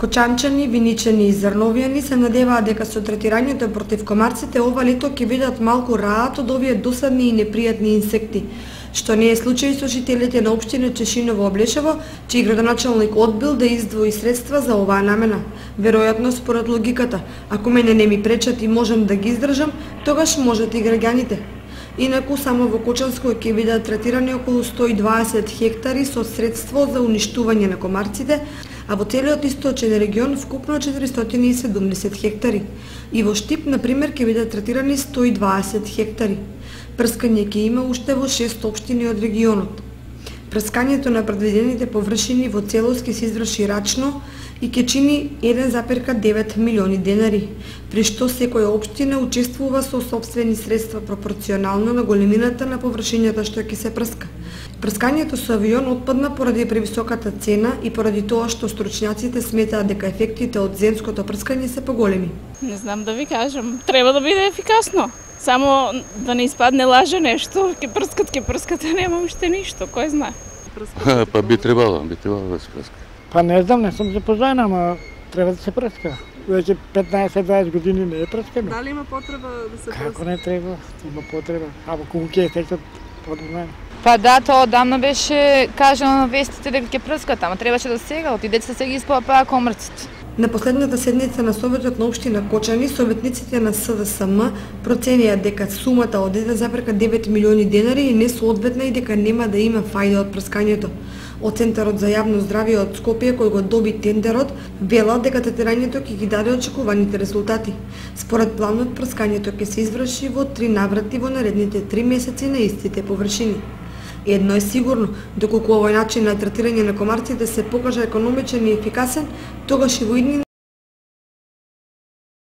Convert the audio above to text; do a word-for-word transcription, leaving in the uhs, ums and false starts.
Кочанчани, виничани и зрновјани се надеваат дека со третирањето против комарците ова лето ќе видат малку раат од овие досадни и непријатни инсекти, што не е случај со жителите на општина Чешиново Облешево, чиј градоначалник одбил да издвои средства за оваа намена. Веројатно според логиката, ако мене не ми пречат и можам да ги издржам, тогаш можат и граѓаните. Инаку само во Кочанско ќе бидат третирани околу сто и дваесет хектари со средство за уништување на комарците, а во целиот источен регион вкупно четиристотини и седумдесет хектари. И во Штип, например, ќе бидат третирани сто и дваесет хектари. Прскање ќе има уште во шест општини од регионот. Прскањето на предвидените површини во целост ќе се изврши рачно и ќе чини еден запирка девет милиони денари, при што секоја општина учествува со сопствени средства пропорционално на големината на површињата што ќе се прска. Прскањето со авион отпадна поради превисоката цена и поради тоа што стручњаците сметаат дека ефектите од земското прскање се поголеми. Не знам да ви кажам, треба да биде ефикасно. Само да не испадне лаже нешто, ќе прскат, ќе прскат, а нема уште ништо, кој знае. Па би требало, би требало да се прска. Па не знам, не сум запознаен, ама треба да се прска. Веќе петнаесет дваесет години не е прскано. Дали има потреба да се прска? Како не треба? Има потреба. Ама колку ќе ефектот подобрен? Па да, тоа одамна беше кажано на вестите дека ќе прскат, ама требаше да сега, оти деца се ги испопаа комарците. На последната седница на Советот на општина Кочани, советниците на С Д С М проценија дека сумата од еден запирка девет милиони денари е несоодветна и дека нема да има фајда од прскањето. Од Центарот за јавно здравје од Скопје, кој го доби тендерот, велат дека третирањето ќе ги даде очекуваните резултати. Според планот, прскањето ќе се изврши во три наврати во наредните три месеци на истите површини. Едно е сигурно, доколку овој начин на третирање на комарците се покажа економичен и ефикасен, тогаш и во иднина